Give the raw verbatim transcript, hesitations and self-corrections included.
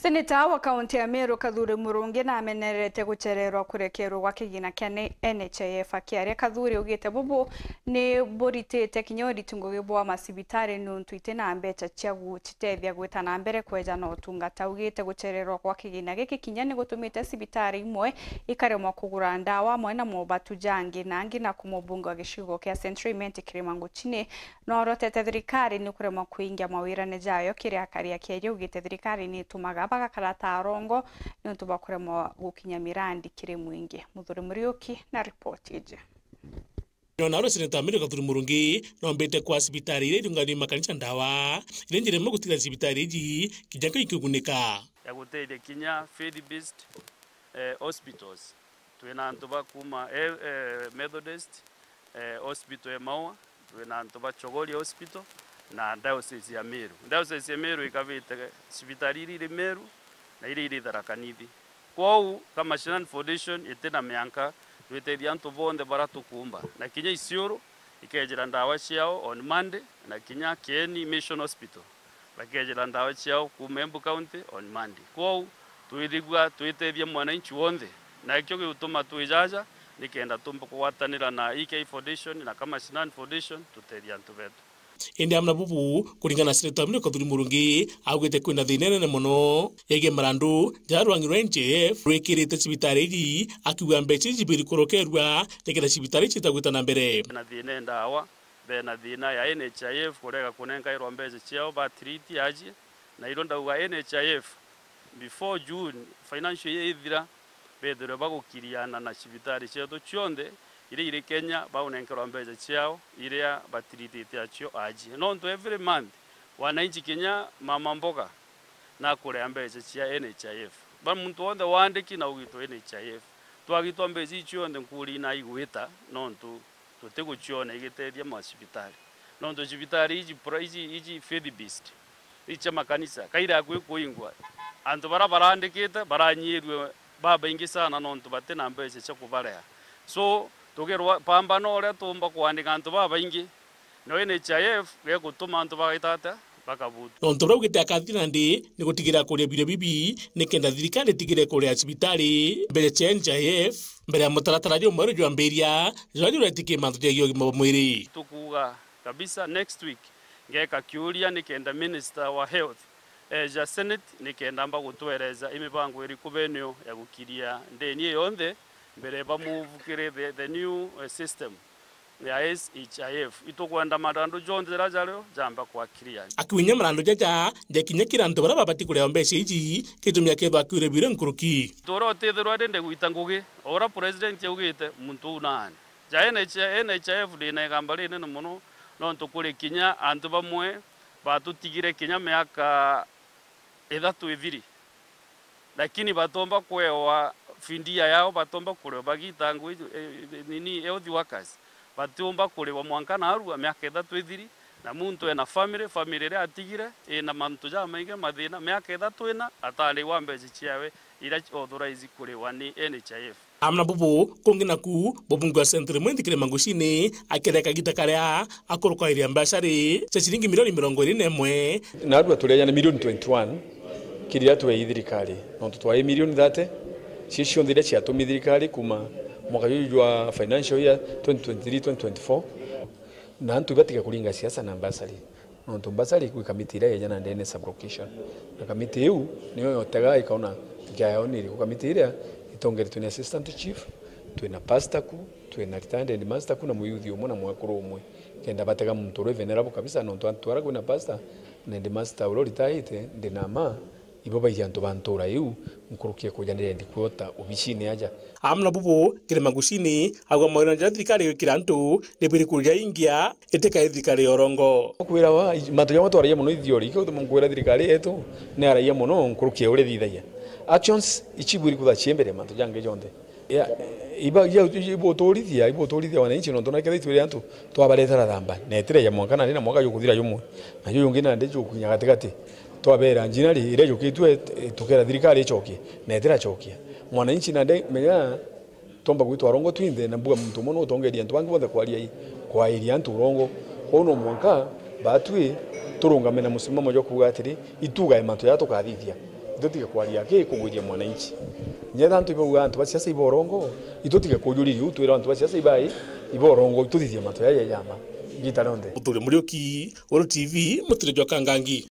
Seneta wa kaunti ya Meru Kathuri Murungi namenerete guchererwa kurekerwa gwa kigina kia N H I F. Akiaria, Kathuri augite bubu ni buritite kinya uriti ngugi bwa macibitari niuntu iti na mbecha cia gucitethia gwita na mbere kweja na utungata. Augite guchererwa gwa kigina giki kinya ni gutumite cibitari imwe ikaremwa kugura ndawa amwe na mobatu jangi na angi, na ku mubunge wa gicigo kia Central Imenti Kirima Nguchini, no orotete thirikari ni kuremwa kuingia mawirane jayo kiri akari a Kieri. Augite thirikari ni itumaga bagakara ta arongo niuntu bwa kuremwa gukinya mirandi kiri mwingi. Muthuri Muriuki na ripoti iji. Nona uri Seneta Mary Kathuri Murungi nombite kwa cibitari iria irunganire makanisa ndawa iria njira imwe gutigana cibitari iji kinya nkai ikigunika. Ya gutethia kinya faith based, eh, hospitals. Twina antu ba kuuma, eh, eh, Methodist, eh, Hospital ya Maua, twina antu ba Chogoria Hospital na Diocese ya Meru. Diocese ya Meru ikabite cibitari iria iri Meru na iria iri Tharaka Nithi. Kwou, ka Mashinani Foundation iti na mianka, twitethia antu bonthe bara tukuumba. Na kinya Isiolo ikejira ndawa ciao on Monday, na kinya Kieni Mission Hospital bakejira ndawa ciao kuuma Embu County on Monday. Kwou, twithigua twitethia mwananchi wonthe, na ikio gigutuma twi jaja, nikenda tumba kugwatanira na E K Foundation na Kamashinan Foundation tutethia antu betu. Indi amwe na bubu, kuringana na Seneta Mary Kathuri Murungi, augite kwina thina inene mono yegie marandu jaria rwangi rwa N H I F rwikirite cibitari iji, akiuga mbeca iji cibiri kurokerua nikenda cibitari iji citagwita na mbere. Na thina ndawa, bena thina ya N H I F kurega kunenkairwa mbeca ciao ba treat aji, na irio ndauga N H I F before June financial year ithira, bethirwe bagukiriana na cibitari cietu cionthe iria iri Kenya, baunenkerwa mbeca ciao iria batiritite acio aji. Nontu every month, wananchi kinya mama mboga nakurea mbeca cia N H I F. Ba muntu wonthe waandiki na ugitwa N H I F. Twagitwa mbeca icio cionthe nkuri na igwita, nontu tutiguciona igitethia macibitari. Nontu cibitari iji pra-, iji, iji faith based, iji cia makanisa, kaira akui kuingwa, antu bara barandikite baranyirue babaingi sana nontu bati na mbeca cia kubaria. So, tugirwa pambana uria tuumba kwandika antu babaingi, no N H I F gegutuma antu bagaita atia? Bakabutu. Nontu bau giti akathira ndi ni gutigira kuria birio bibi nikenda thirikari itigire kuria cibitari mbeca cia N H I F mbere ya mutaratara jumweru jwambiria jwa juretikia mantu jegie ugima bwa mwiri. Tukuuga kabisa next week ngeka kiuria nikenda Minister wa Health eja Senate nikenda amba gutwereza i mibango iriku benio ya gukiria ndeni iyo yonthe mbere ba move kiri the, the new, eh, system ya S H I F. Itukwenda marandu jonthe jaria jario jamba kwa clear. Akiunya marandu jaja jekinya kiri antu baria babati kuria mbeca iji, gitumi akethwa akiure biure nkuruki. Turia utithirwa rindi gwita ngugi, o uria president augite, muntu uu naani. Ja N H I, N H I F ndina igamba rinene mono, nontu kuri kinya antu bamwe batutigire kinya miaka ithatu ithiri, lakini batomba kwewa fidia yao, batomba kuriwa bagita ngui, eh, nini, health workers, batiumba kuriwa mwanka narua miaka ithatu ithiri, na muntu ena family, family iria atigire ina mantu jamaingi, mathina, miaka ithatu ina atarigwa mbeca ciawe iria authorize kuriwa ni N H I F. Amwe na bubu, kungi naku, mubunge wa Central Imenti Kirima Nguchini aketheka gita karia akurukairia mbacari cia ciringi milioni mirongo iri na imwe. Narua tureja na milioni twenty-one kiri iria twei thirikari, nontu twai milioni thirty, cio cionthe iria ciatumi thirikari kuma mwaka juju jwa financial year twenty twenty-three twenty twenty-four, na antu ibatiga kuringa siasa na mbacari. Nontu mbacari kwi kamiti iria yeja na ndene sub-location. Na kamiti iu niyo yotaga ikaona nkia yao ni iriku. Kamiti iria itongeretwe ni assistant chief, twina pastor ku, twina retired headmaster ku, na muyuthi umwe na mwekuru umwe. Kenda batega muntu uria venerable kabisa, nontu antu aria kwina pastor na headmaster uria uritaite, ndina ma, ibo baiji antu ba ntura iu, nkuruki ya kuja ndirendi kwota obicini aja. Amwe na bubu, Kirima Nguchini auga mawira jaria thirikari igwikira antu ni biri kuria ingia, itikae thirikari ya urongo. Kwirawa, mantu jamwe twaragia mono i theory, ikio gituma nkwira thirikari yetu ni aragia mono nkuruki ya uria ithithagia. Actions ichibwiri kutha ciembere mantu jangi jonthe. Ya, iba, ya, ibuturithia, ibuturithia wananchi, nontu na kethira itwire antu twabaretera thamba, na itireja mwanka nandi na mwaka jukuthira jumwe, na juju jungi nandi jukukinya gatigati, twabera njinari iria jukitue, tukera thirikari icokie, na itiracokia. Mwananchi nandi menya, tomba gwitwa arongo twinthe, na mbuga muntu umwe no utongeria antu bangi bonthe kwaria i, kwairia antu urongo. Kwou no mwanka batwi turungame na musimamo jwa kuuga atiri, itugae mantu jaria tukathithia. Tutige kwaria ki kugwiria mwananchi. Nyetha antu ibauga antu ba siasa iborongo, itutige kujuriria u twira antu ba siasa ibai iborongo, ituthithie mantu yaya yama. Gita rionthe. Muturi Muriuki, Weru T V, Mutiri jwa Kangangi.